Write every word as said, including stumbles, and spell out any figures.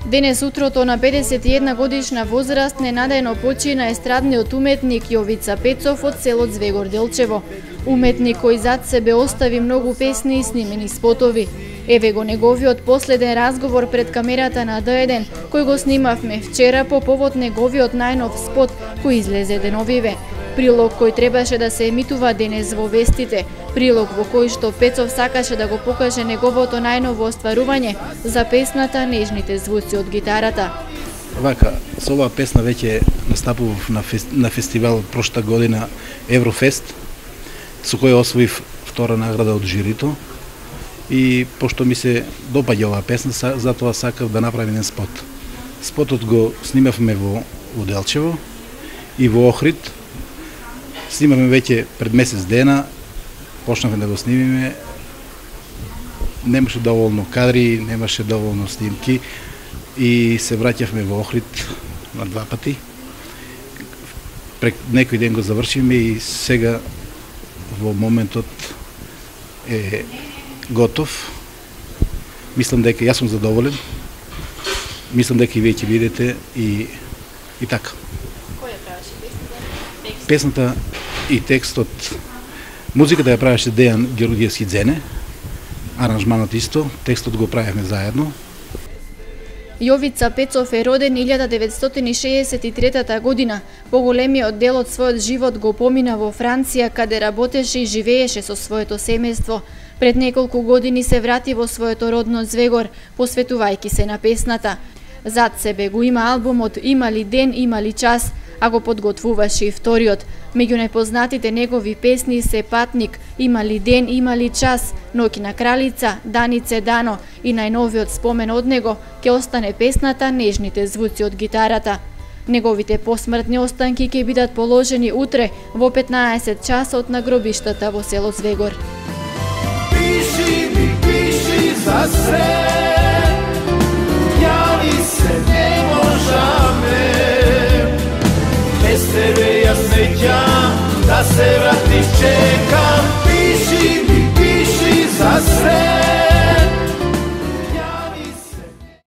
Денес утрото на педесет и една годишна возраст ненадејно почина естрадниот уметник Јовица Пецов од село Звегор Делчево. Уметник кој зад себе остави многу песни и снимени спотови. Еве го неговиот последен разговор пред камерата на Д еден, кој го снимавме вчера по повод неговиот најнов спот кој излезе деновиве. Прилог кој требаше да се емитува денес во вестите. Прилог во кој што Пецов сакаше да го покаже неговото најново остварување за песната Нежните звуци од гитарата. Вака, со оваа песна веќе настапував на, фест, на фестивал прошта година Еврофест, со кој освоив втора награда од жирито. И пошто ми се допаѓа оваа песна, затоа сакав да направим еден спот. Спотот го снимавме во, во Делчево и во Охрид. Снимавме веќе пред месец дена, почнавме да го снимиме. Немаше доволно кадри, немаше доволно снимки и се враќавме во Охрид на два пати. Пред некој ден го завршиме и сега во моментот е готов. Мислам дека јас сум задоволен. Мислам дека и вие ќе видите и и така. Која правеше песната? Песната и текстот, музиката ја правеше Дејан Георгиевски Дзене, аранжманот исто, текстот го правевме заедно. Јовица Пецов е роден илјада деветстотини шеесет и трета година. Поголемиот дел од својот живот го помина во Франција, каде работеше и живееше со своето семејство. Пред неколку години се врати во своето родно Звегор, посветувајќи се на песната. Зад себе го има албумот "Има ли ден, има ли час", а го подготвуваше и вториот. Меѓу најпознатите негови песни се "Патник", "Има ли ден, има ли час", "Ноќна кралица", "Данице Дано" и најновиот спомен од него ќе остане песната "Нежните звуци од гитарата". Неговите посмртни останки ќе бидат положени утре во петнаесет часот на гробиштата во село Звегор. Пиши ми, пиши за се, јави се, не можаме. Без тебе јас неќам да се вратиш, че